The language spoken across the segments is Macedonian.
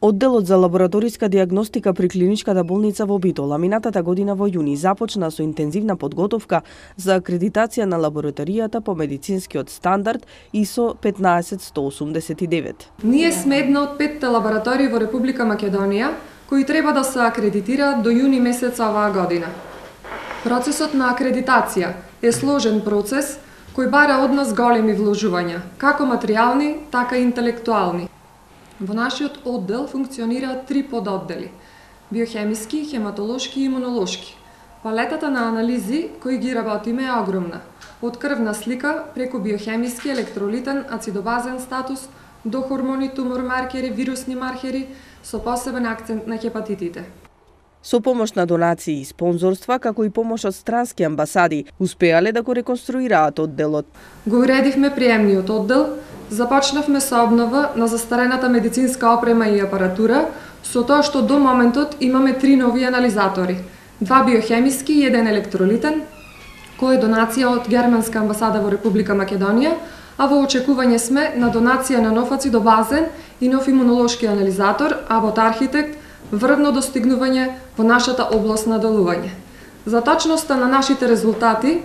Одделот за лабораториска диагностика при клиничката болница во Битола минатата година во јуни започна со интензивна подготовка за акредитација на лабораторијата по медицинскиот стандард ISO 15189. Ние сме една од 5 лаборатории во Република Македонија кои треба да се акредитираат до јуни месец оваа година. Процесот на акредитација е сложен процес кој бара од нас големи вложувања, како материјални, така и интелектуални. Во нашиот оддел функционираат 3 пододдели – биохемиски, хематолошки и имунолошки. Палетата на анализи кои ги работиме е огромна. Од крвна слика, преку биохемиски, електролитен, ацидобазен статус, до хормони, тумор маркери, вирусни маркери, со посебен акцент на хепатитите. Со помош на донации и спонзорства, како и помош од странски амбасади, успеале да го реконструираат одделот. Го уредивме приемниот оддел, започнавме со обнова на застарената медицинска опрема и апаратура, со тоа што до моментот имаме 3 нови анализатори, 2 биохемиски и 1 електролитен, кој е донација од Германска амбасада во Република Македонија, а во очекување сме на донација на нов ацидобазен и нов имунолошки анализатор, а во архитект врвно достигнување во нашата област на делување. За точноста на нашите резултати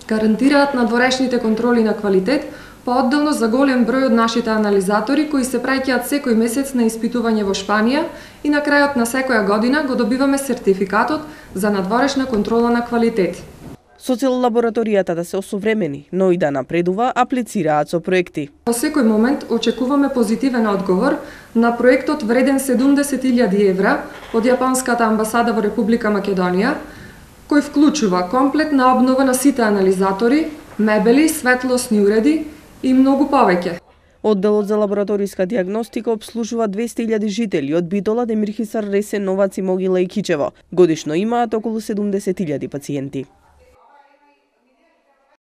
гарантираат надворешните контроли на квалитет, поодделно за голем број од нашите анализатори кои се праќаат секој месец на испитување во Шпанија и на крајот на секоја година го добиваме сертификатот за надворешна контрола на квалитет. Со цел лабораторијата да се осовремени, но и да напредува, аплицираат со проекти. Во секој момент очекуваме позитивен одговор на проектот вреден 70.000 евра од Јапонската амбасада во Република Македонија, кој вклучува комплетна обнова на сите анализатори, мебели, светлосни уреди и многу повеќе. Одделот за лабораториска диагностика обслужува 200.000 жители од Битола, Демирхисар, Ресен, Новац и Могила и Кичево. Годишно имаат околу 70.000 пациенти.